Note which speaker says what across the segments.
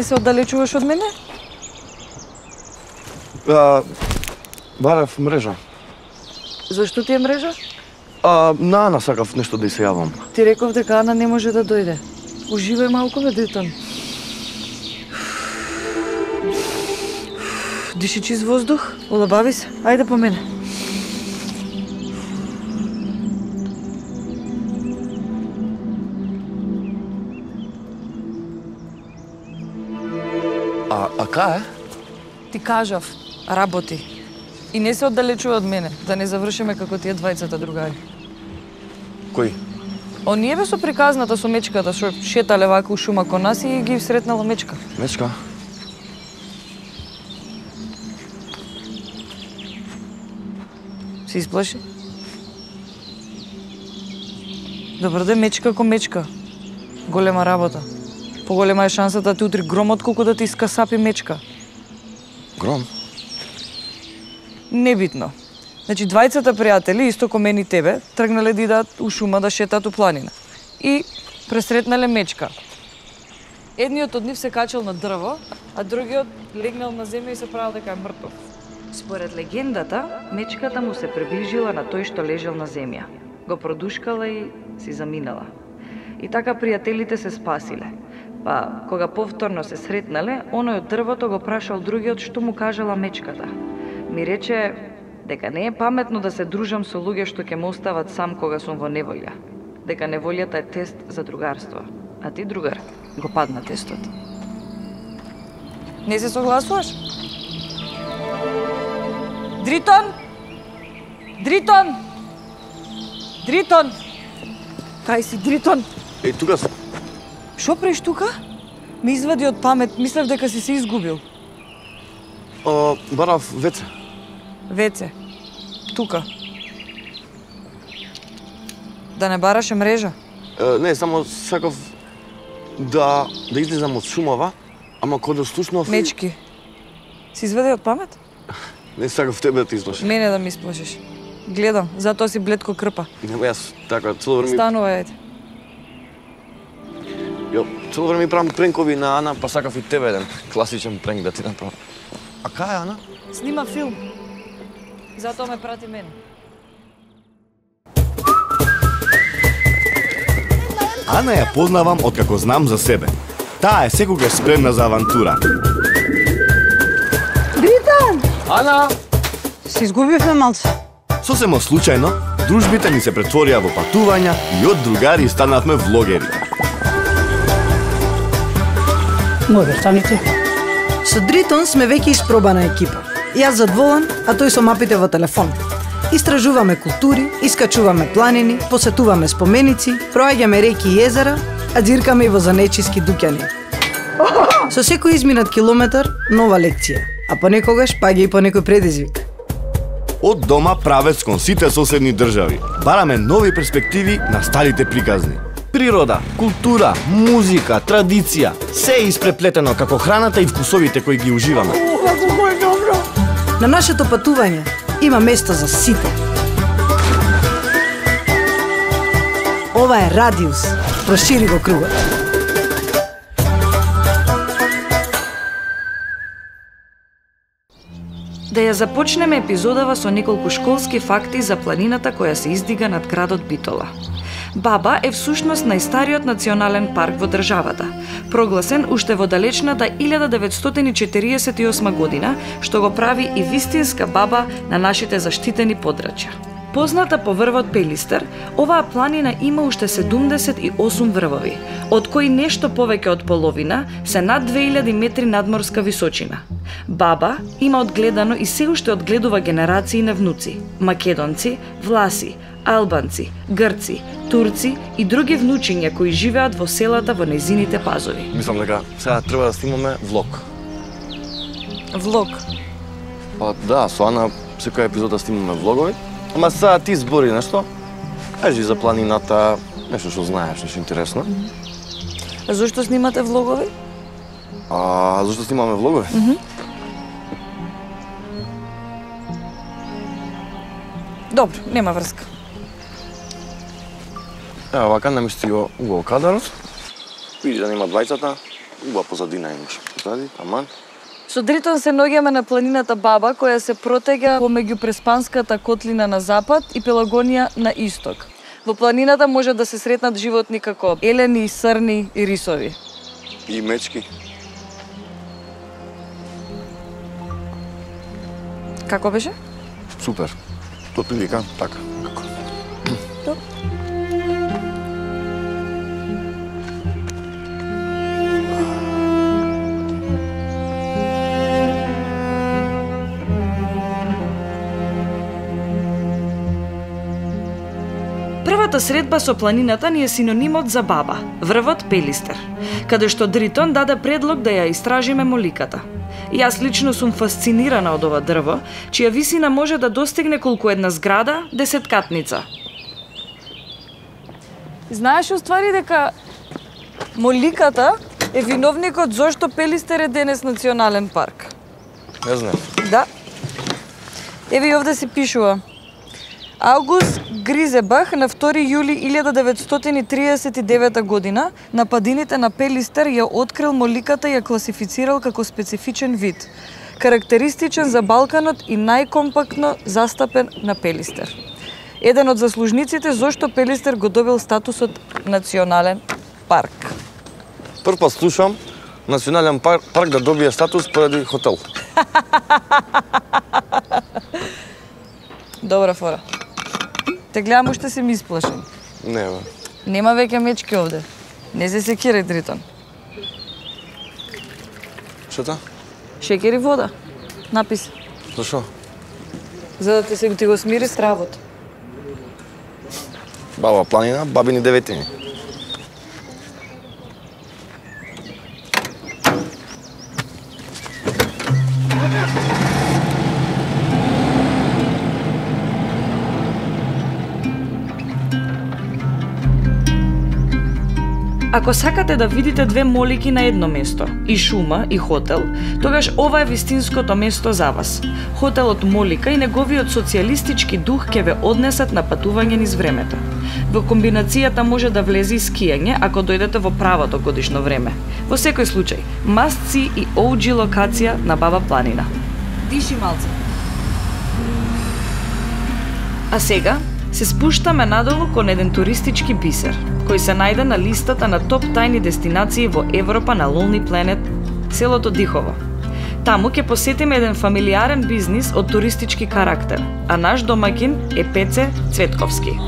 Speaker 1: се оддалечуваш од мене?
Speaker 2: Барав мрежа.
Speaker 1: Зашто ти е мрежа?
Speaker 2: На Ана сакав нешто да ѝ се јавам.
Speaker 1: Ти реков дека Ана не може да дојде. Уживај малку, бе, Дритон. Диши чист воздух, улабави се. Ајде по мене.
Speaker 2: А кај е?
Speaker 1: Ти кажав, работи. И не се оддалечува од мене, да не завршиме како тие двајцата другари.
Speaker 2: Кој?
Speaker 1: Оние бе со приказната со мечката, што шетале вака у шума кон нас и ги сретнала мечка.
Speaker 2: Мечка?
Speaker 1: Се исплаши? Добро де, мечка ко мечка. Голема работа. Поголема е шансата да ти утри гром отколку да ти искасапи мечка.
Speaker 2: Гром?
Speaker 1: Небитно. Значи, двајцата пријатели, исто ко мене и тебе, тргнале да идат у шума да шетат у планина. И пресретнале мечка. Едниот од нив се качал на дрво, а другиот легнал на земја и се правил дека е мртов. Според легендата, мечката му се приближила на тој што лежал на земја. Го продушкала и си заминала. И така пријателите се спасиле. Па, кога повторно се сретнале, оној од дрвото го прашал другиот што му кажала мечката. Ми рече дека не е паметно да се дружам со луѓе што ќе ме остават сам кога сум во неволја. Дека неволјата е тест за другарство. А ти, другар, го падна тестот. Не се согласуваш? Дритон! Дритон! Дритон! Кај си, Дритон?
Speaker 2: Тука сум.
Speaker 1: Шо правиш тука? Ме извади од памет, мислев дека си се изгубил.
Speaker 2: Барав веце.
Speaker 1: Веце. Тука. Да не бараше мрежа?
Speaker 2: Не, само сакав да излезам од шумава, ама кога слушнав...
Speaker 1: Мечки. Си извади од памет?
Speaker 2: Не сакав тебе да ти излоши.
Speaker 1: Мене да ми исплашиш. Гледам, затоа си блед ко крпа.
Speaker 2: Нема јас така цело време...
Speaker 1: Станува, еде.
Speaker 2: Цело време правам пренкови на Ана, па сакав и тебе еден класичен пренк да ти направам. А кај е Ана?
Speaker 1: Снима филм. Затоа ме прати мене.
Speaker 3: Ана ја познавам откако знам за себе. Таа е секогаш спремна за авантура.
Speaker 4: Дритон!
Speaker 2: Ана!
Speaker 4: Се изгубивме малце.
Speaker 3: Сосема случајно, дружбите ни се претворија во патувања и од другари станавме влогери.
Speaker 4: Мој станите. Со Дритон сме веќе испробана екипа. Јас зад волан, а тој со мапите во телефон. Истражуваме култури, искачуваме планини, посетуваме споменици, проаѓаме реки и езера, а дзиркаме и во занечиски дуќани. Со секој изминат километар, нова лекција, а понекогаш паѓа и по некој предизвик.
Speaker 3: Од дома правец кон сите соседни држави. Бараме нови перспективи на старите приказни. Природа, култура, музика, традиција, се е испреплетено како храната и вкусовите кои ги уживаме.
Speaker 4: Како е добро! На нашето патување има место за сите. Ова е Радиус. Прошири го кругот.
Speaker 1: Да ја започнеме епизодава со неколку школски факти за планината која се издига над градот Битола. Баба е всушност најстариот национален парк во државата, прогласен уште во далечната 1948 година, што го прави и вистинска баба на нашите заштитени подрачја. Позната по врвот Пелистер, оваа планина има уште 78 врвови, од кои нешто повеќе од половина се над 2000 метри надморска височина. Баба има одгледано и се уште одгледува генерации на внуци, македонци, власи, албанци, грци, турци и други внучиња кои живеат во селата во нејзините пазови.
Speaker 2: Мислам дека сега треба да снимаме влог.
Speaker 1: Влог?
Speaker 2: Па да, со Ана секоја епизода снимаме влогови. Ама сега ти збори нешто. Кажи за планината, нешто што знаеш, нешто интересно.
Speaker 1: А зошто снимате влогови?
Speaker 2: Зошто снимаме влогови?
Speaker 1: Добро, нема врска.
Speaker 2: Ева, вака намести го угол кадарот. Види да нема двајцата, убава позадина имаш. Ради, аман.
Speaker 1: Со Дритон се наоѓаме на планината Баба, која се протега помеѓу Преспанската котлина на запад и Пелагонија на исток. Во планината може да се сретнат животни како елени, срни и рисови.
Speaker 2: И мечки.
Speaker 1: Како беше?
Speaker 2: Супер. Тоа прилика, така.
Speaker 1: Топ. Првата средба со планината ни е синонимот за Баба, врвот Пелистер, каде што Дритон даде предлог да ја истражиме моликата. Јас лично сум фасцинирана од ова дрво, чија висина може да достигне колку една зграда, 10-катница. Знаеш уствари дека моликата е виновникот зошто Пелистер е денес национален парк?
Speaker 2: Не знам.
Speaker 1: Да. Еви овде се пишува. Аугуст Гризебах на 2 јули 1939 година на падините на Пелистер ја открил моликата и ја класифицирал како специфичен вид, карактеристичен за Балканот и најкомпактно застапен на Пелистер. Еден од заслужниците зошто Пелистер го добил статусот национален парк.
Speaker 2: Прв пат слушам национален парк да добие статус поради хотел.
Speaker 1: Добра фора. Те гледам уште се ми исплашен.
Speaker 2: Не, бе.
Speaker 1: Нема веќе мечки овде. Не се секирај, Дритон.
Speaker 2: Што та?
Speaker 1: Шекер и вода. Напис.
Speaker 2: Зашо?
Speaker 1: За да ти го смири стравот.
Speaker 2: Баба планина, бабини деветини.
Speaker 1: Ако сакате да видите две молики на едно место, и шума, и хотел, тогаш ова е вистинското место за вас. Хотелот Молика и неговиот социјалистички дух ќе ве однесат на патување низ времето. Во комбинацијата може да влезе и скијање ако дојдете во правото годишно време. Во секој случај, must see и OG локација на Баба планина. Диши малце. А сега се спуштаме надолу кон еден туристички бисер, кој се најде на листата на топ тајни дестинации во Европа на Lonely Planet, селото Дихово. Таму ќе посетиме еден фамилиарен бизнис од туристички карактер, а наш домаќин е Пеце Цветковски.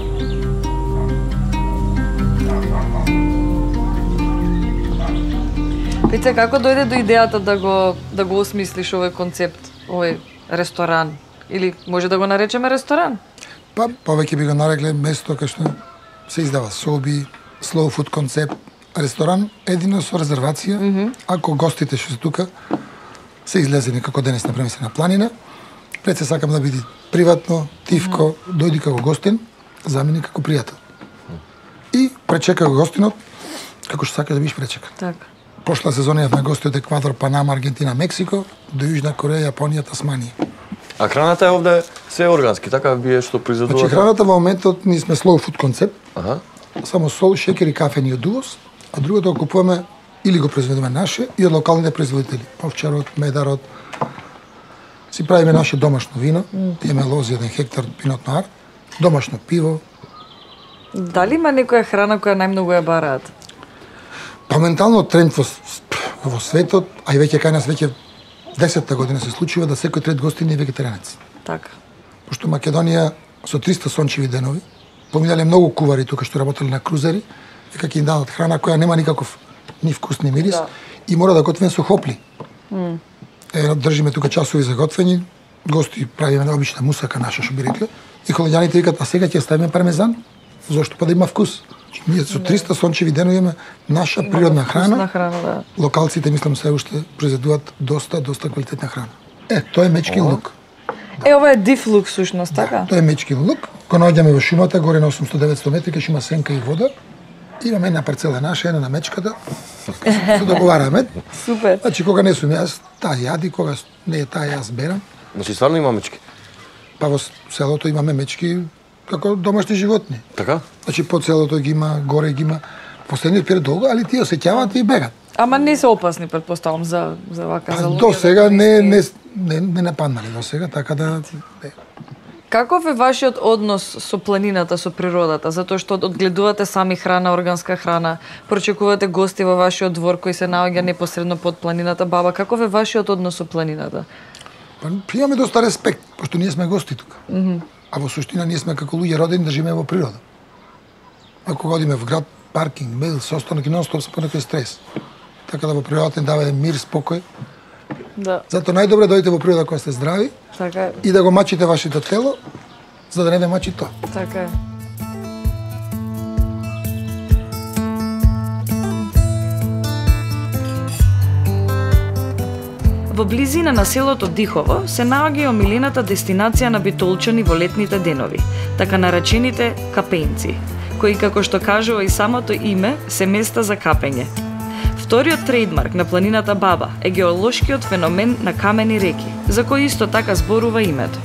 Speaker 1: Пеце, како дојде до идејата да го осмислиш овој концепт, овој ресторан? Или може да го наречеме ресторан?
Speaker 5: Па, повеќе би го нарекле место кај што се издава соби, slow food концепт, ресторан, едино со резервација. Ако гостите што се тука се излезени како денес например се на планина, пред се сакам да биде приватно, тивко, дојди како гостин, замени како пријател. И пречека гостинот како што сака да бидеш пречекан.
Speaker 1: Така.
Speaker 5: Прошла сезона јавме гости од Еквадор, Панама, Аргентина, Мексико, до Јужна Кореја, Јапонија, Тасманија.
Speaker 2: А храната е овде се органски, така бие што произведува?
Speaker 5: Значи храната во моментот ние сме slow food концепт.
Speaker 2: Аха.
Speaker 5: Само сол, шекер и кафе ни од увоз, а другото го купуваме или го произведуваме наше и од локалните производители. Овчарот, медарот. Си правиме наше домашно вино, имаме лози 1 хектар пинот ноар, домашно пиво.
Speaker 1: Дали има некоја храна која најмногу ја бараат?
Speaker 5: Па ментално тренд во светот, а и веќе кај нас веќе 10-та година се случува да секој трет гостин е вегетаријанец.
Speaker 1: Така.
Speaker 5: Пошто Македонија со 300 сончеви денови, поминале многу кувари тука што работеле на крузери, дека ќе им дадат храна која нема никаков ни вкус ни мирис и мора да готвен со хопли. Држиме тука часови за готвење, гости правиме наобична мусака наша што би рекле, и холеѓаните викат, а сега ќе ставиме пармезан, зошто па да има вкус. Ние со 300 сончеви денови имаме наша природна храна.
Speaker 1: Да.
Speaker 5: Локалците мислам се уште произведуваат доста квалитетна храна. Тоа е мечкин лук.
Speaker 1: Ова е див лук сушност, така?
Speaker 5: Тоа е мечкин лук. Кога наоѓаме во шумата, горе на 800-900 метри, кај има сенка и вода, имаме една парцела наша, една на мечката, се договараме.
Speaker 1: Супер.
Speaker 5: Значи, кога не сум јас, таа јади, кога не е таа јас берам.
Speaker 2: Значи, стварно има мечки?
Speaker 5: Па во селото имаме мечки како домашни животни.
Speaker 2: Така?
Speaker 5: Значи, по селото ги има, горе ги има. Последниот период долго, али тие осеќаваат и бегат.
Speaker 1: Ама не се опасни, предпоставам, за вака за луѓе.
Speaker 5: До сега не нападнале до сега, така да...
Speaker 1: Каков е вашиот однос со планината, со природата? Затоа што одгледувате сами храна, органска храна, прочекувате гости во вашиот двор кој се наоѓа непосредно под планината. Баба, каков е вашиот однос со планината?
Speaker 5: Па имаме доста респект, пошто ние сме гости тука. А во суштина ние сме како луѓе родени да живееме во природа. Ако одиме во град, паркинг, мејл, состанок и нон-стоп се понекој стрес. Така да во природата ни дава мир, спокој.
Speaker 1: Да.
Speaker 5: Затоа најдобре дојдете во природа кога сте здрави.
Speaker 1: Така е.
Speaker 5: И да го мачите вашето тело, за да не ве мачи тоа.
Speaker 1: Така е. Во близина на селото Дихово се наоѓа и омилената дестинација на битолчани во летните денови, така наречените капенци, кои, како што кажува и самото име, се места за капење. Вториот трейдмарк на планината Баба е геолошкиот феномен на камени реки, за кој исто така зборува името.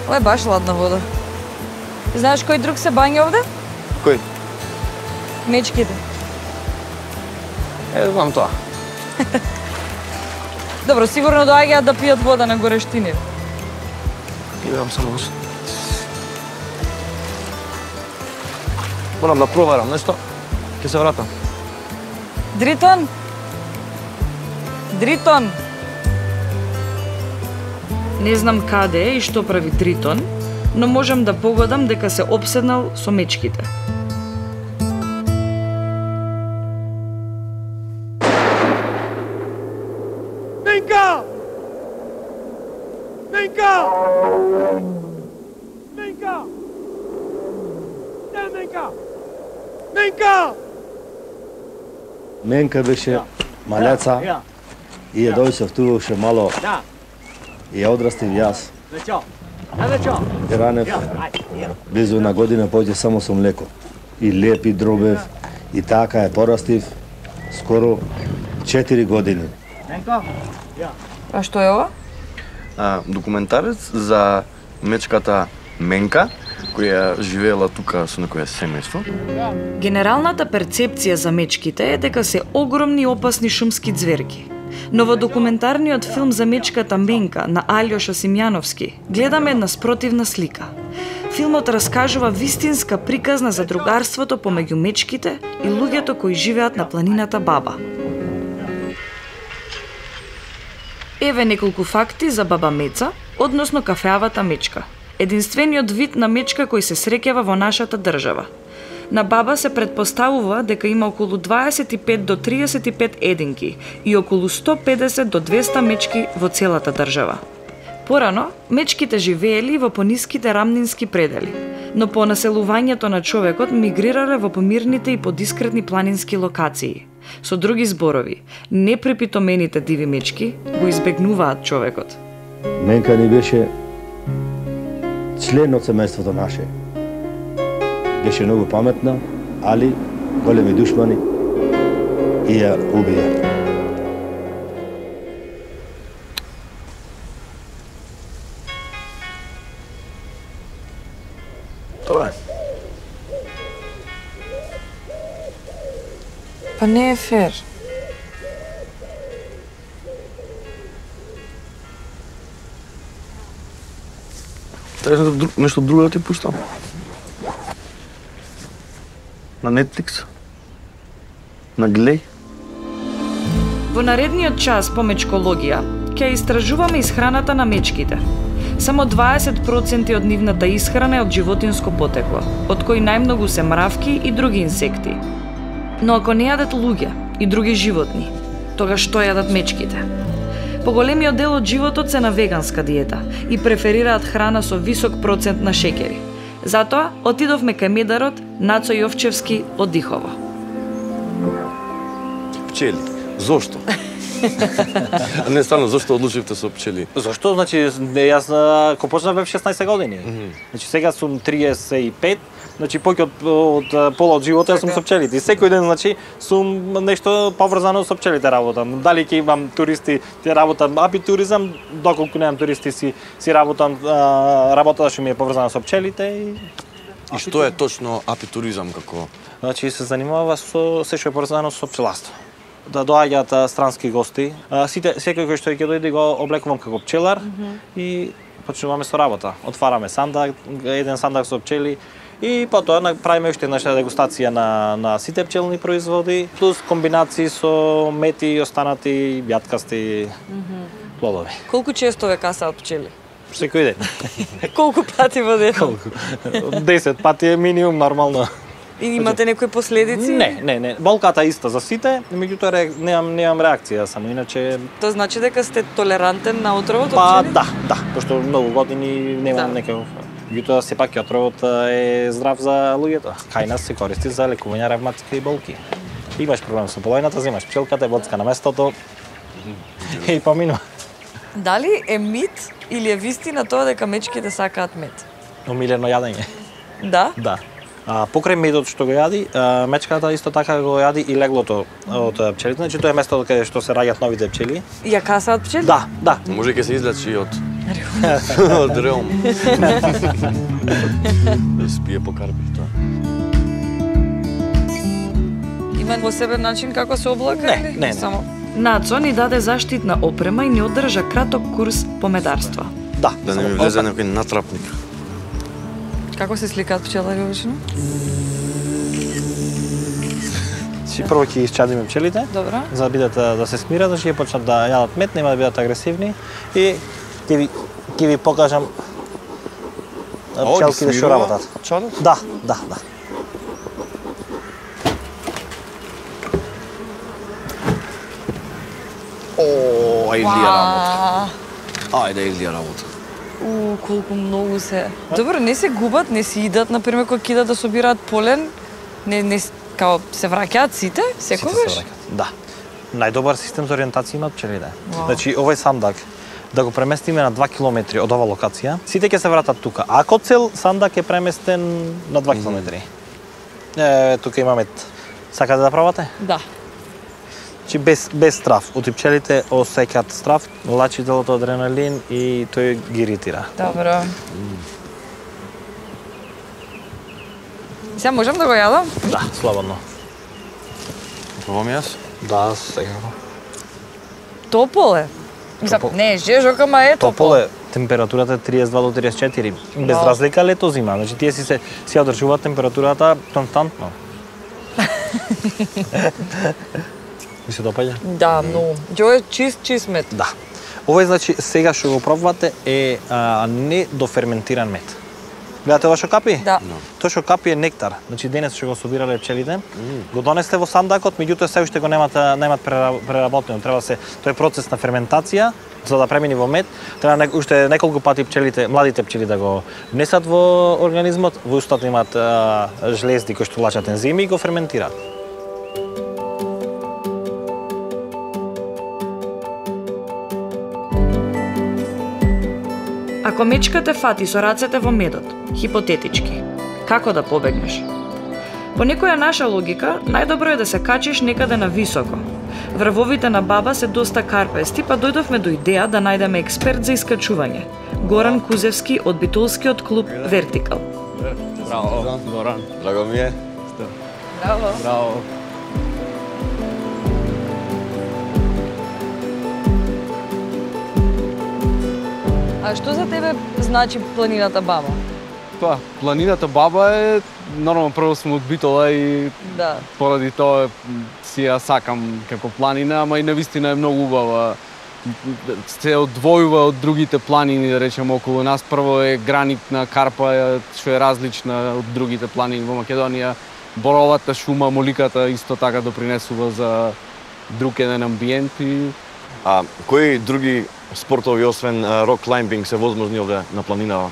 Speaker 1: Ова е баш ладна вода. Знаеш кој друг се бања овде?
Speaker 2: Кој?
Speaker 1: Мечките.
Speaker 2: Знам тоа.
Speaker 1: Добро, сигурно доаѓаат да пијат вода на горештини.
Speaker 2: Идам само нешто. Морам да проверам нешто. Ќе се вратам.
Speaker 1: Дритон? Дритон? Не знам каде е и што прави Дритон, но можам да погодам дека се опседнал со мечките.
Speaker 6: Менка! Менка! Менка! Де Менка? Менка!
Speaker 7: Менка беше малеца и ја дојшов мало и ја одрастив јас. И ранев близу една година поќе само со млеко. И леп и дробев и така ја порастив скоро 4 години.
Speaker 1: А што е ова?
Speaker 2: Документарец за мечката Менка, која живеела тука со некое семејство.
Speaker 1: Генералната перцепција за мечките е дека се огромни и опасни шумски ѕверки. Но во документарниот филм за мечката Менка на Алјоша Симјановски гледаме една спротивна слика. Филмот раскажува вистинска приказна за другарството помеѓу мечките и луѓето кои живеат на планината Баба. Еве неколку факти за Баба Меца, односно кафеавата мечка. Единствениот вид на мечка кој се среќава во нашата држава. На Баба се предпоставува дека има околу 25 до 35 единки и околу 150 до 200 мечки во целата држава. Порано, мечките живеели во пониските рамнински предели, но по населувањето на човекот мигрирале во помирните и подискретни планински локации. Со други зборови, непрепитомените диви мечки го избегнуваат човекот.
Speaker 7: Менка ни беше член од семејството наше. Беше многу паметна, али големи душмани и ја убија.
Speaker 2: Тоа е.
Speaker 1: Па не е фер.
Speaker 2: Треба нешто друго да ти пуштам. На Netflix? На Глеј?
Speaker 1: Во наредниот час по мечкологија ќе истражуваме исхраната на мечките. Само 20% од нивната исхрана е од животинско потекло, од кои најмногу се мравки и други инсекти. Но ако не јадат луѓе и други животни, тогаш што јадат мечките? Поголемиот дел од животот се на веганска диета и преферираат храна со висок процент на шеќери. Затоа отидовме кај медарот Нацо Јовчевски од Дихово.
Speaker 2: Пчели. Зошто? Не, стварно, зашто одлучивте со пчели?
Speaker 8: Зашто? Значи, јас кога почнав бев 16 години. Значи, сега сум 35, значи повеќе од пола од живота сум со пчелите. И секој ден, значи, сум нешто поврзано со пчелите работам. Дали ќе имам туристи, ќе работам апитуризам, доколку немам туристи си работам, работата што ми е поврзана со пчелите
Speaker 2: И што е точно апитуризам како?
Speaker 8: Значи се занимава со се што е поврзано со пчеларство. Да доаѓаат странски гости. Секој кој што ќе дојде го облекувам како пчелар и почнуваме со работа. Отвараме сандак, еден сандак со пчели и потоа правиме уште една дегустација на сите пчелни производи, плюс комбинации со мети и останати јаткасти плодови.
Speaker 1: Колку често ве касаат пчели?
Speaker 8: Секој ден.
Speaker 1: Колку пати во ден?
Speaker 8: 10 пати е минимум нормално.
Speaker 1: И имате некои последици?
Speaker 8: Не. Болката е иста за сите, меѓутоа немам реакција, само иначе.
Speaker 1: Тоа значи дека сте толерантен на отровот од
Speaker 8: Па
Speaker 1: пчели?
Speaker 8: да, пошто многу години немам некој. Меѓутоа сепак отровот е здрав за луѓето. Кај нас се користи за лекување ревматски болки. Имаш проблем со полојната, земаш пчелката, боцка на местото и поминува.
Speaker 1: Дали е мит или е вистина тоа дека мечките сакаат мед?
Speaker 8: Омилено јадење.
Speaker 1: Да?
Speaker 8: Да. Покрај медот што го јади, мечката исто така го јади и леглото од пчелите. Значи тоа е местото каде што се раѓаат новите пчели.
Speaker 1: Ја касаат пчели?
Speaker 8: Да.
Speaker 2: Може ќе се излечи од реум. Да спие по карпи, тоа.
Speaker 1: Има посебен начин како се облака?
Speaker 8: Не.
Speaker 1: Само Нацо ни даде заштитна опрема и ни одржа краток курс по медарства.
Speaker 8: Да
Speaker 2: не ми влезе некој натрапник.
Speaker 1: Како се сликаат пчелари обично?
Speaker 8: Прво ќе исчадиме пчелите.
Speaker 1: Добро.
Speaker 8: За да бидат да се смират, значи ќе почнат да јадат мед, нема да бидат агресивни и ќе ви покажам пчелките што работат.
Speaker 2: Чадот?
Speaker 8: Да.
Speaker 2: Ајде Илија работа.
Speaker 1: Колку многу се. Добро, не се губат, не си идат, например, кога кидат да собираат полен, не као се враќаат сите, секогаш?
Speaker 8: Да. Најдобар систем за ориентација имаат пчелите. Значи, овој сандак, да го преместиме на 2 километри од ова локација, сите ќе се вратат тука. Ако цел сандак е преместен на 2 километри. Тука имаме. Сакате да пробате?
Speaker 1: Да.
Speaker 8: Значи без страв. Оти пчелите осеќаат страв, лачи делото адреналин и тој ги иритира.
Speaker 1: Добро. Сега можам да го јадам?
Speaker 8: Да, слободно.
Speaker 2: Пробам јас?
Speaker 8: Да, секако.
Speaker 1: Топол е. Не е жежок, ама е топол.
Speaker 8: Топол е. Температурата е 32 до 34. Без разлика лето зима. Значи тие си одржуваат температурата константно. Ви се допаѓа?
Speaker 1: Да, многу. Џо е чист мед.
Speaker 8: Да. Ова значи сега што го пробвате е недоферментиран мед. Гледате ова што капи?
Speaker 1: Да.
Speaker 8: Тоа што капи е нектар. Значи денес што го собирале пчелите, го донесте во сандакот, меѓутоа се уште го немат преработено. Треба тоа е процес на ферментација, за да премини во мед, треба уште неколку пати пчелите, младите пчели да го внесат во организмот, во устата имаат жлезди кои што лачат ензими и го ферментираат.
Speaker 1: Ако мечка те фати со рацете во медот, хипотетички, како да побегнеш? По некоја наша логика, најдобро е да се качиш некаде на високо. Врвовите на баба се доста карпести, па дојдовме до идеја да најдеме експерт за искачување. Горан Кузевски од битолскиот клуб Вертикал.
Speaker 2: Браво, Горан. Драго ми е.
Speaker 1: Браво. А што за тебе значи планината Баба?
Speaker 9: Па, планината Баба е нормално прво сум од Битола и поради тоа си ја сакам како планина, ама и навистина е многу убава. Се одвојува од другите планини, да речеме, околу нас. Прво е гранитна карпа, што е различна од другите планини во Македонија. Боровата шума, моликата исто така допринесува за друг еден амбиент и
Speaker 2: кои други спортови освен рок клаймбинг се возможни овде на планинава?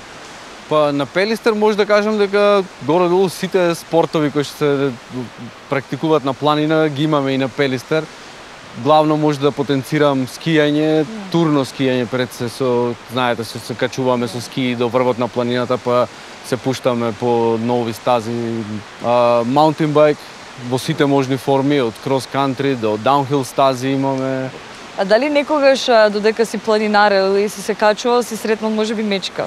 Speaker 9: Па на Пелистер може да кажам дека горе-долу сите спортови кои што се практикуваат на планина ги имаме и на Пелистер. главно може да потенцирам скијање, турно скијање пред се со, знаете, се качуваме со ски до врвот на планината, па се пуштаме по нови стази. Маунтин байк во сите можни форми, од крос кантри до даунхил стази имаме.
Speaker 1: А дали некогаш додека си планинарел и си се качувал, си сретнал можеби мечка?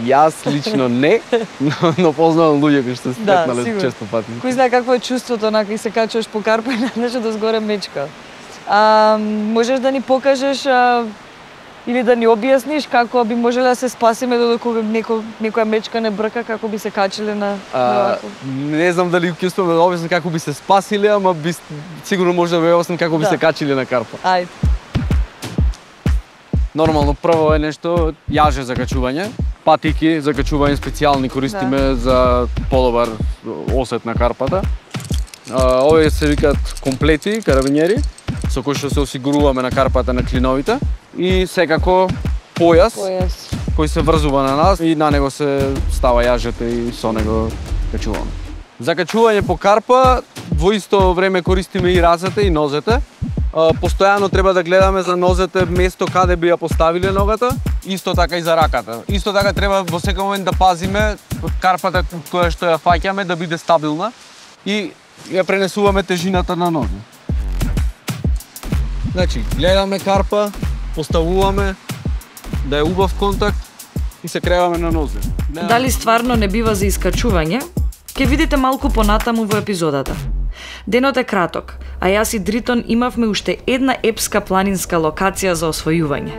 Speaker 9: Јас лично не, но познавам луѓе кои што се сретнале често пати.
Speaker 1: Кој знае какво е чувството онака и се качуваш по карпа и најнаше да згоре мечка. Можеш да ни покажеш или да ни објасниш како би можеле да се спасиме додека некоја мечка не брка, како би се качиле на
Speaker 9: не знам дали ќе успееме да објаснам како би се спасиле, ама сигурно може да ви објаснам како би се качиле на карпа.
Speaker 1: Ајде.
Speaker 9: Нормално прво е нешто јаже за качување, патики за качување специјални користиме за подобар осет на карпата. Овие се викаат комплети, карабинери, со кои што се осигуруваме на карпата на клиновите и секако појас кој се врзува на нас и на него се става јажето и со него качуваме. За качување по карпа во исто време користиме и разете и нозете. Постојано треба да гледаме за нозете место каде би ја поставиле ногата, исто така и за раката. Исто така треба во секој момент да пазиме карпата која што ја фаќаме да биде стабилна и ја пренесуваме тежината на нозе. Значи, гледаме карпа, поставуваме да е убав контакт и се креваме на нозе.
Speaker 1: Дали стварно не бива за искачување? Ке видите малку понатаму во епизодата. Денот е краток, а јас и Дритон имавме уште една епска планинска локација за освојување.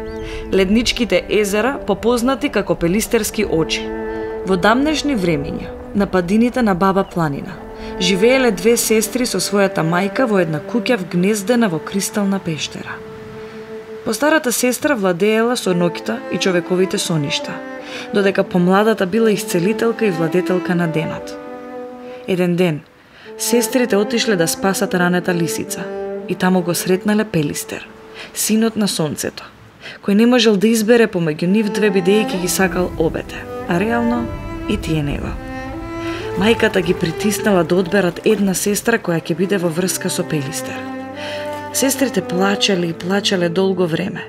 Speaker 1: Ледничките езера, попознати како Пелистерски очи. Во дамнешни времиња, на падините на Баба планина, живееле две сестри со својата мајка во една куќа вгнездена во кристална пештера. Постарата сестра владеела со ноќта и човековите соништа, додека помладата била исцелителка и владетелка на денот. Еден ден, сестрите отишле да спасат ранета лисица и таму го сретнале Пелистер, синот на сонцето, кој не можел да избере помеѓу нив две бидејќи ги сакал обете, а реално и тие него. Мајката ги притиснала да одберат една сестра која ќе биде во врска со Пелистер. Сестрите плачеле и плачеле долго време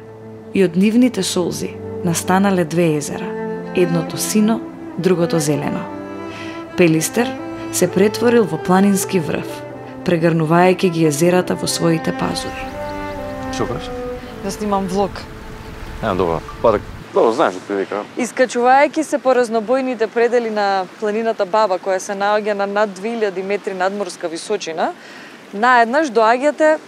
Speaker 1: и од нивните солзи настанале две езера, едното сино, другото зелено. Пелистер се претворил во планински врв, прегрнувајќи ги езерата во своите пазури.
Speaker 2: Што кажеш?
Speaker 1: Да снимам влог.
Speaker 2: Добро. Добро, знаеш што вика.
Speaker 1: Искачувајќи се по разнобојните предели на планината Баба, која се наоѓа на над 2000 метри надморска височина, наеднаш доаѓате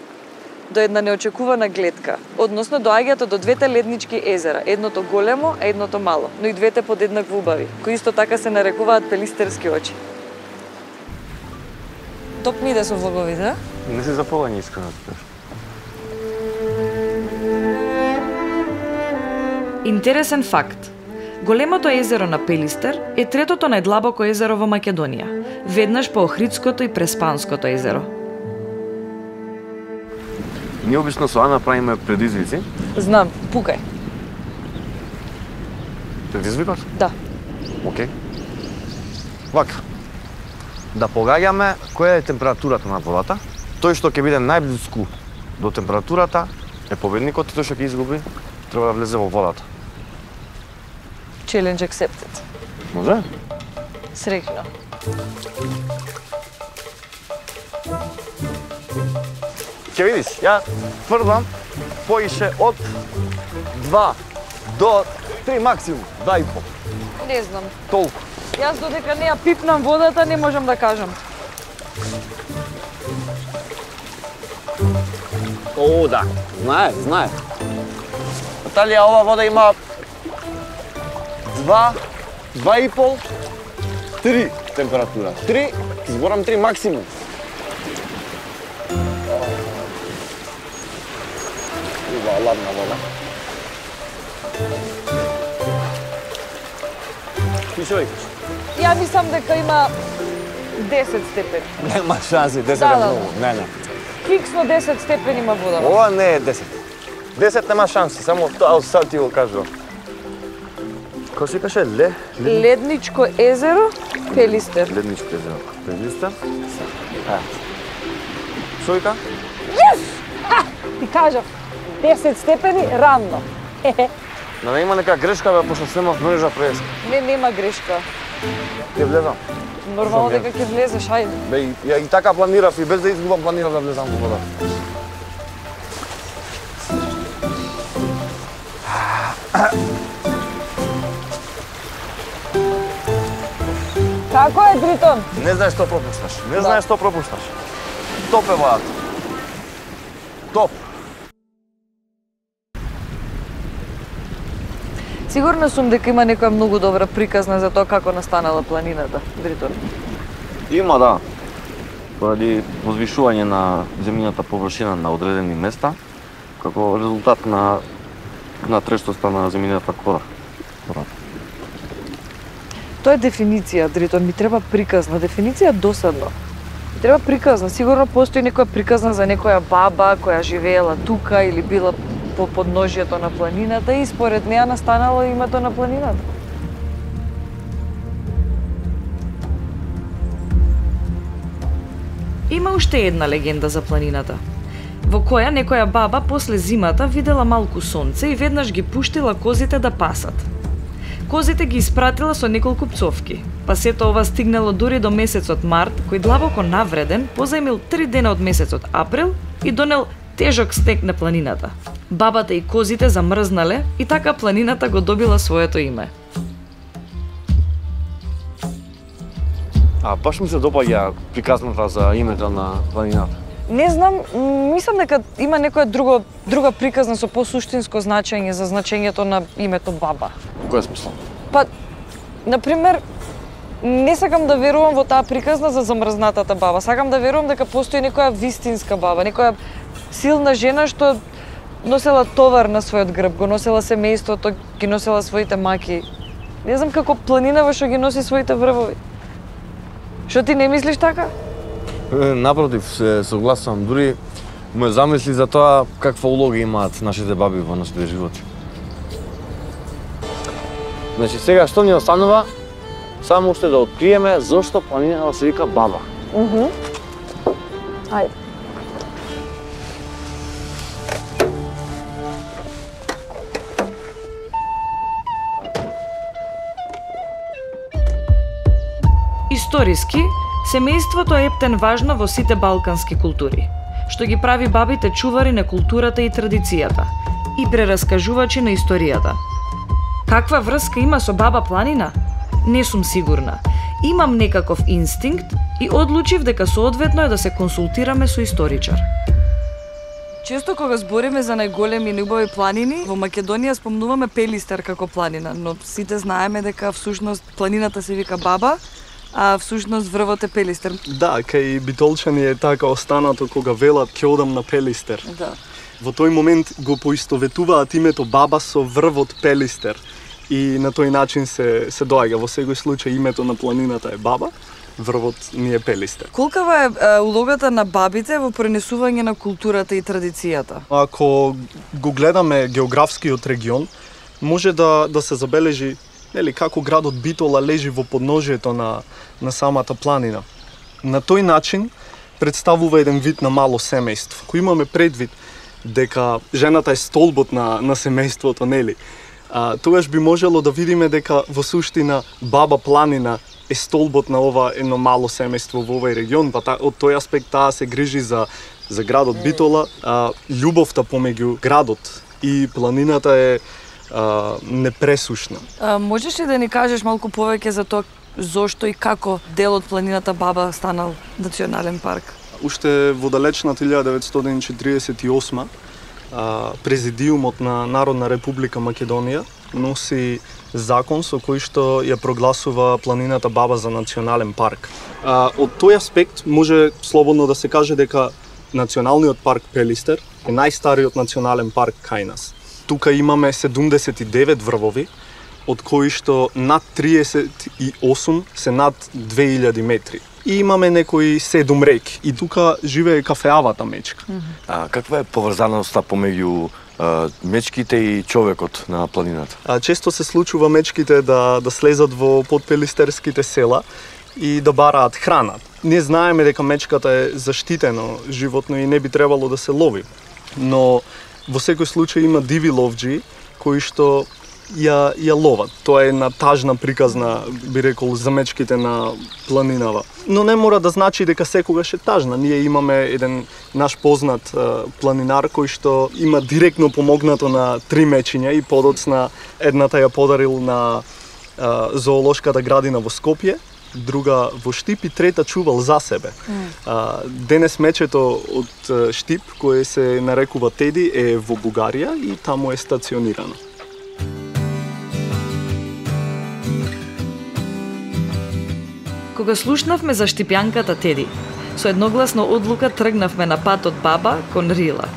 Speaker 1: до една неочекувана гледка, односно доаѓате до двете леднички езера, едното големо, а едното мало, но и двете подеднакво убави, кои исто така се нарекуваат Пелистерски очи. Топ ми иде со влоговите, а?
Speaker 2: Не си заполање искрено да кажеш.
Speaker 1: Интересен факт. Големото езеро на Пелистер е третото најдлабоко езеро во Македонија, веднаш по Охридското и Преспанското езеро.
Speaker 2: Ние обично со Ана правиме предизвици.
Speaker 1: Знам, пукај.
Speaker 2: Предизвикаш?
Speaker 1: Да.
Speaker 2: Океј. Вака. Да погаѓаме која е температурата на водата. Тој што ќе биде најблиску до температурата е победникот и тој што ќе изгуби треба да влезе во водата.
Speaker 1: Challenge accepted.
Speaker 2: Може?
Speaker 1: Среќно.
Speaker 2: Ќе видиш, ја тврдам поише од 2 до 3 максимум, 2,5.
Speaker 1: Не знам.
Speaker 2: Толку.
Speaker 1: Јас додека не ја пипнам водата, не можам да кажам.
Speaker 2: О, да. Знае. Наталија, ова вода има 2,5, 3 температура. 3, зборам 3 максимум. Ладна вода. Ти што викаш?
Speaker 1: Ја мислам дека има 10 степени.
Speaker 2: Нема шанси, 10 е многу. Не.
Speaker 1: Фиксно 10 степени има вода.
Speaker 2: Ова не е 10. 10 нема шанси, само тоа сад ти го кажувам. Кој се каже?
Speaker 1: Ледничко езеро, Пелистер.
Speaker 2: Ледничко езеро, Пелистер. Што вика?
Speaker 1: Yes!
Speaker 10: Ти кажав, 10 степени рамно.
Speaker 2: Да не има нека грешка, бе, пошто снимав мрежа прес.
Speaker 1: Не, нема грешка.
Speaker 2: Ќе влезам.
Speaker 1: Нормално дека ќе влезеш, ајде.
Speaker 2: Бе, ја и така планирав и без да изгубам планирав да влезам во вода.
Speaker 10: Како е, Дритон?
Speaker 2: Не знаеш што пропушташ. Не знаеш што пропушташ. Топ е водата. Топ.
Speaker 1: Сигурна сум дека има некоја многу добра приказна за тоа како настанала планината, Дритон.
Speaker 2: Има, да. Поради возвишување на земјината површина на одредени места, како резултат на трештоста на земјината кора.
Speaker 1: Тоа е дефиниција, Дритон, ми треба приказна. Дефиниција досадно. Ми треба приказна. Сигурно постои некоја приказна за некоја баба која живеела тука или била по подножјето на планината и според неа настанало името на планината. Има уште една легенда за планината, во која некоја баба после зимата видела малку сонце и веднаш ги пуштила козите да пасат. Козите ги испратила со неколку пцовки, па сето ова стигнало дури до месецот март, кој длабоко навреден позајмил 3 дена од месецот април и донел тежок снег на планината. Бабата и козите замрзнале и така планината го добила своето име.
Speaker 2: Баш ми се допаѓа приказната за името на планината.
Speaker 1: Не знам, мислам дека има некоја друга приказна со посуштинско значење за значењето на името баба.
Speaker 2: Кој е смисла?
Speaker 1: Па, например, не сакам да верувам во таа приказна за замрзнатата баба. Сакам да верувам дека постои некоја вистинска баба, некоја силна жена што носела товар на својот грб, го носела семејството, ги носела своите маки. Не знам како планинава што ги носи своите врвови. Што ти не мислиш така?
Speaker 2: Напротив, се согласувам. Дури ме замисли за тоа каква улога имаат нашите баби во нашите животи. Значи сега што ни останува? Само уште да откриеме зошто планината се вика баба.
Speaker 1: Ајде. Историски, семејството е ептен важно во сите балкански култури, што ги прави бабите чувари на културата и традицијата и прераскажувачи на историјата. Каква врска има со баба планина? Не сум сигурна. Имам некаков инстинкт и одлучив дека соодветно е да се консултираме со историчар. Често кога збориме за најголеми и убави планини, во Македонија спомнуваме Пелистер како планина, но сите знаеме дека всушност планината се вика Баба, а всушност врвот е Пелистер.
Speaker 11: Да, кај битолчани е така останато кога велат ќе одам на Пелистер.
Speaker 1: Да.
Speaker 11: Во тој момент го поистоветуваат името Баба со врвот Пелистер и на тој начин се доаѓа. Во секој случај името на планината е Баба, врвот ни е Пелистер.
Speaker 1: Колкава е улогата на бабите во пренесување на културата и традицијата?
Speaker 11: Ако го гледаме географскиот регион, може да се забележи како градот Битола лежи во подножието на самата планина. На тој начин представува еден вид на мало семејство. Ако имаме предвид дека жената е столбот на семејството, нели? Тогаш би можело да видиме дека во суштина Баба планина е столбот на ова едно мало семејство во овој регион, па од тој аспект таа се грижи за градот Битола. Љубовта помеѓу градот и планината е непресушна.
Speaker 1: Можеш ли да ни кажеш малку повеќе за тоа зошто и како дел од планината Баба станал национален парк?
Speaker 11: Уште во далечната 1948 Президиумот на Народна република Македонија носи закон со кој што ја прогласува планината Баба за национален парк. Од тој аспект може слободно да се каже дека Националниот парк Пелистер е најстариот национален парк кај нас. Тука имаме 79 врвови, од кои што над 38 се над 2000 метри. И имаме некои 7 реки. И тука живее кафеавата мечка.
Speaker 2: Каква е поврзаноста помеѓу мечките и човекот на планината?
Speaker 11: Често се случува мечките да слезат во подпелистерските села и да бараат храна. Ние знаеме дека мечката е заштитено животно и не би требало да се лови. Но во секој случај има диви ловџи кои што ја ловат. Тоа е една тажна приказна, би рекол, за мечките на планинава. Но не мора да значи дека секогаш е тажна. Ние имаме еден наш познат планинар кој што има директно помогнато на 3 мечиња и подоцна едната ја подарил на зоолошката градина во Скопје, друга во Штип и трета чувал за себе. Денес мечето од Штип, кое се нарекува Теди, е во Бугарија и таму е стационирано.
Speaker 1: Кога слушнавме за штипјанката Теди, со едногласна одлука тргнавме на патот Баба кон Рила,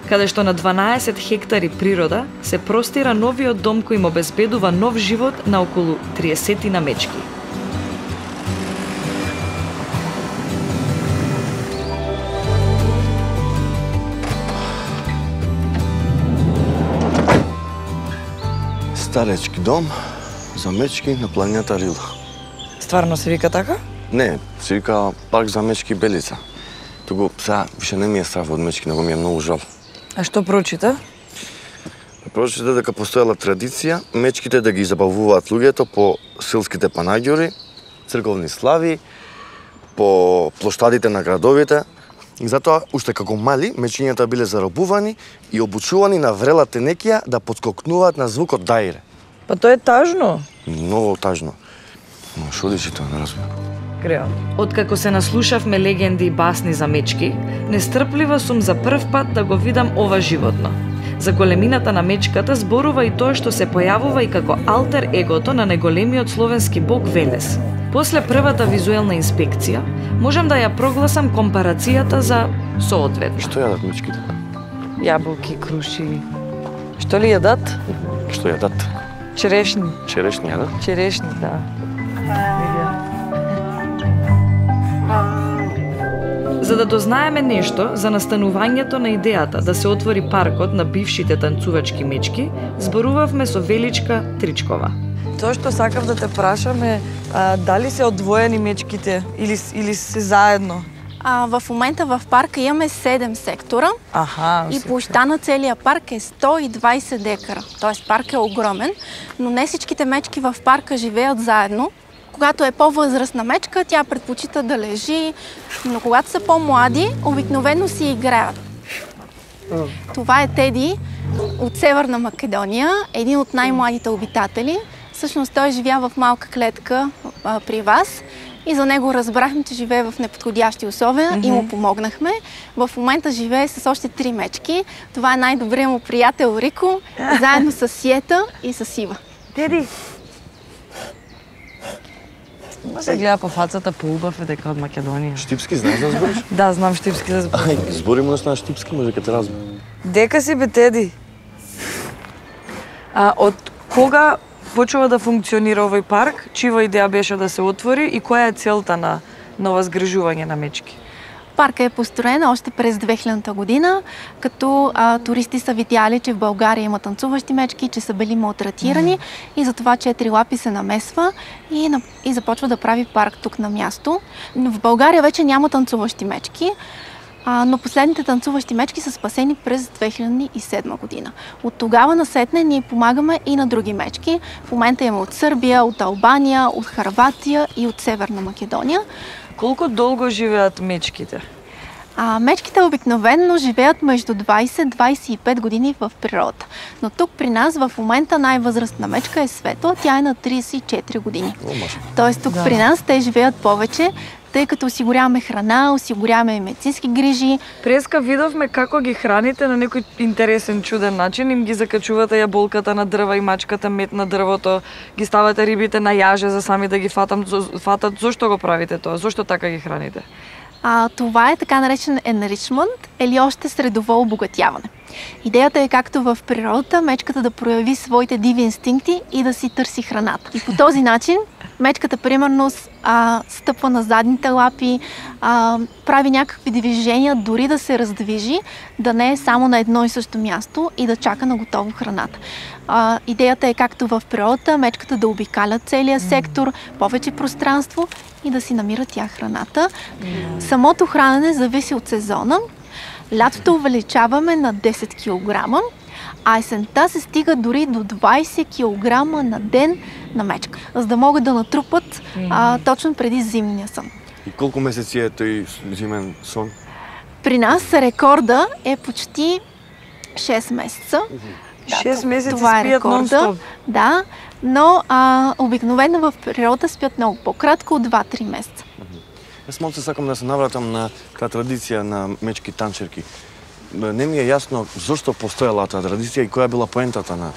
Speaker 1: каде што на 12 хектари природа се простира новиот дом кој им обезбедува нов живот на околу 30 на мечки.
Speaker 3: Старечки дом за мечки на планината Рила.
Speaker 1: Стварно се вика така?
Speaker 3: Не, се вика парк за мечки Белица. Туку сега више не ми е страв од мечки, него ми е многу жал.
Speaker 1: А што прочита?
Speaker 3: Прочита дека постоела традиција мечките да ги забавуваат луѓето по селските панаѓори, црковни слави, по плоштадите на градовите. И затоа, уште како мали, мечињата биле заробувани и обучувани на врела тенекија да подскокнуваат на звукот дајре.
Speaker 1: Па тоа е тажно.
Speaker 3: Многу тажно. Но шо дичи тоа, не разбирам.
Speaker 1: Крео. Откако се наслушавме легенди и басни за мечки, нестрплива сум за прв пат да го видам ова животно. За големината на мечката зборува и тоа што се појавува и како алтер егото на неголемиот словенски бог Велес. После првата визуелна инспекција, можам да ја прогласам компарацијата за соодветно.
Speaker 3: Што јадат мечките?
Speaker 1: Јаболки, круши. Што ли јадат?
Speaker 3: Што јадат?
Speaker 1: Черешни.
Speaker 3: Черешни јадат?
Speaker 1: Черешни, да. За да дознаеме нешто за настанувањето на идејата да се отвори паркот на бившите танцувачки мечки, зборувавме со Величка Тричкова. Тоа што сакав да те прашам е дали се одвоени мечките или се заедно?
Speaker 12: В момента в парка имаме 7 сектора и площта на целия парк е 120 декара. Тоест парк е огромен, но не всичките мечки в парка живеят заедно. Когато е по-възрастна мечка, тя предпочита да лежи, но когато са по-млади, обикновено си играят. Това е Теди от Северна Македония, един от най-младите обитатели. Всъщност той живя в малка клетка при вас и за него разбрахме, че живее в неподходящи условия и му помогнахме. В момента живее с още 3 мечки. Това е най-добрият му приятел Рико, заедно с Сиета и с Ива.
Speaker 1: Теди! Се гледа по фацата поубав е дека од Македонија.
Speaker 3: Штипски знаеш да збориш?
Speaker 1: Да, знам штипски да збориш.
Speaker 3: Ај, збори му на штипски, може дека те разберам.
Speaker 1: Дека си бе, Теди? Од кога почува да функционира овој парк? Чива идеја беше да се отвори и која е целта на ова згрижување на мечки?
Speaker 12: Парка е построен още през 2000-та година, като туристи са видяли, че в България има танцуващи мечки, че са били малтретирани и затова 4 лапи се намесва и започва да прави парк тук на място. Но в България вече няма танцуващи мечки, но последните танцуващи мечки са спасени през 2007 година. От тогава насетне ние помагаме и на други мечки. В момента има от Сърбия, от Албания, от Хърватия и от Северна Македония.
Speaker 1: Колко дълго живеят мечките?
Speaker 12: Мечките обикновено живеят между 20-25 години в природата. Но тук при нас в момента най-възрастна мечка е Светла, тя е на 34 години. Тоест тук при нас те живеят повече, тъй като осигуряваме храна, осигуряваме медицински грижи.
Speaker 1: Преска видовме како ги храните на некој интересен, чуден начин. Им ги закачувате јаболката на дрва и мачката мед на дрвото, ги ставате рибите на јаже за сами да ги фатат. Зошто го правите тоа? Зошто така ги храните?
Speaker 12: Това е така наречен enrichment или още средово обогатяване. Идеята е както в природата мечката да прояви своите диви инстинкти и да си търси храната. И по този начин мечката примерно стъпва на задните лапи, прави някакви движения, дори да се раздвижи, да не е само на едно и също място и да чака на готово храната. Идеята е както в природата мечката да обикаля целия сектор, повече пространство и да си намира тя храната. Самото хранене зависи от сезона. Лятото увеличаваме на 10 кг, а есента се стига дори до 20 кг на ден на мечка, за да могат да натрупат точно преди зимния сън.
Speaker 2: И колко месеци е тој зимен сон?
Speaker 12: При нас рекорда е почти 6 месеца.
Speaker 1: 6 месеци
Speaker 12: това е
Speaker 1: спият нон-стоп.
Speaker 12: Да, но обикновено в природа спят много по-кратко от 2-3 месеца.
Speaker 2: Јас малце сакам да се навратам на таа традиција на мечки танчерки. Не ми е јасно зошто постоела таа традиција и која била поентата на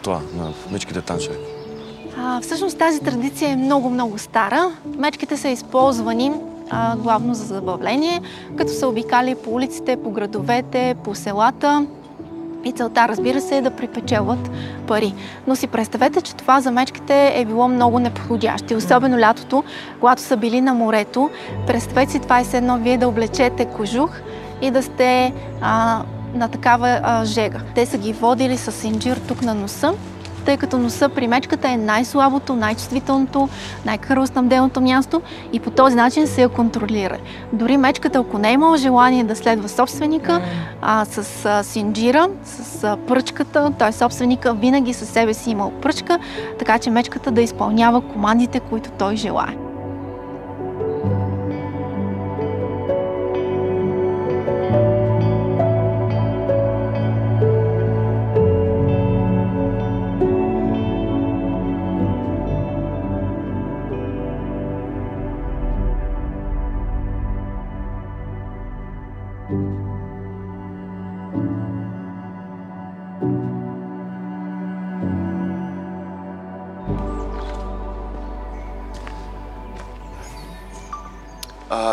Speaker 2: тоа, на мечките танчерки.
Speaker 12: Всъщност тази традиция е много стара. Мечките са използвани главно за забавление, като са обикали по улиците, по градовете, по селата. И целта, разбира се, е да припечелват пари. Но си представете, че това за мечките е било много неподходящо. Особено лятото, когато са били на морето. Представете си, това е едно вие да облечете кожух и да сте на такава жега. Те са ги водили с синджир тук на носа, тъй като носа при мечката е най-слабото, най-чувствителното, най-кръвоснабденото място и по този начин се я контролира. Дори мечката, ако не е имала желание да следва собственика, с синджира, с пръчката, т.е. собственика винаги със себе си имал пръчка, така че мечката да изпълнява командите, които той желае.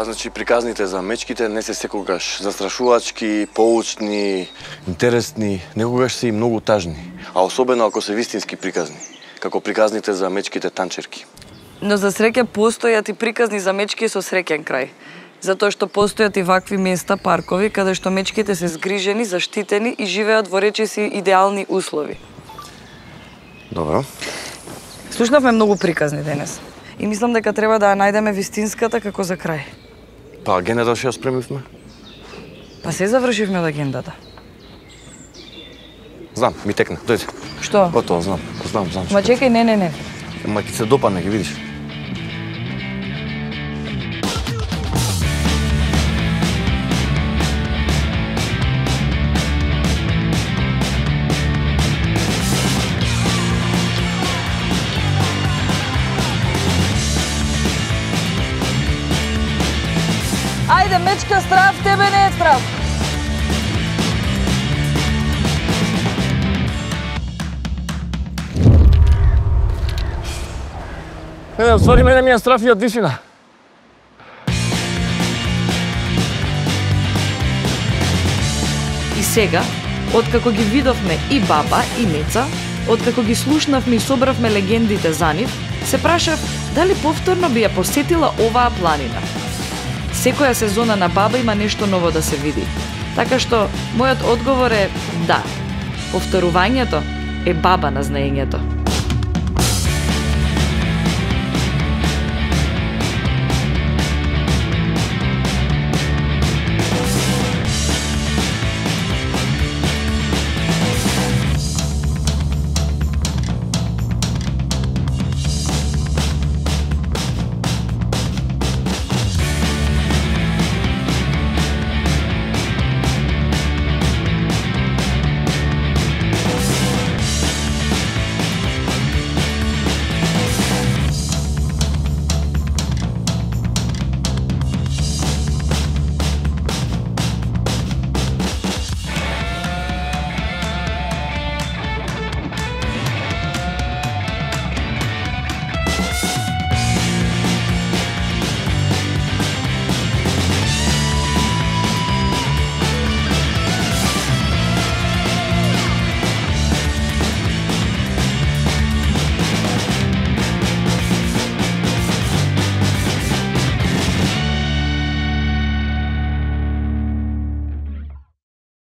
Speaker 2: Значи, приказните за мечките не се секогаш застрашувачки, поучни, интересни, некогаш се и многу тажни, а особено ако се вистински приказни, како приказните за мечките танчерки.
Speaker 1: Но за среќа постојат и приказни за мечки со среќен крај. Затоа што постојат и вакви места, паркови, каде што мечките се згрижени, заштитени и живеат во речиси идеални услови.
Speaker 2: Добро.
Speaker 1: Слушнавме многу приказни денес. И мислам дека треба да ја најдеме вистинската како за крај.
Speaker 2: Па агендата што ја спремивме?
Speaker 1: Па се завршивме од агендата.
Speaker 2: Знам, ми текна, дојде.
Speaker 1: Што?
Speaker 2: Готово, знам.
Speaker 1: Ма чекај, не.
Speaker 2: Ма ќе се допадне, ќе видиш.
Speaker 1: Ајде, мечка, страв, тебе не е страв.
Speaker 2: Не, ствари мене ми е страв и од висина.
Speaker 1: И сега, откако ги видовме и баба, и Меца, откако ги слушнавме и собравме легендите за нив, се прашав дали повторно би ја посетила оваа планина. Секоја сезона на баба има нешто ново да се види. Така што, мојот одговор е да. Повторувањето е баба на знаењето.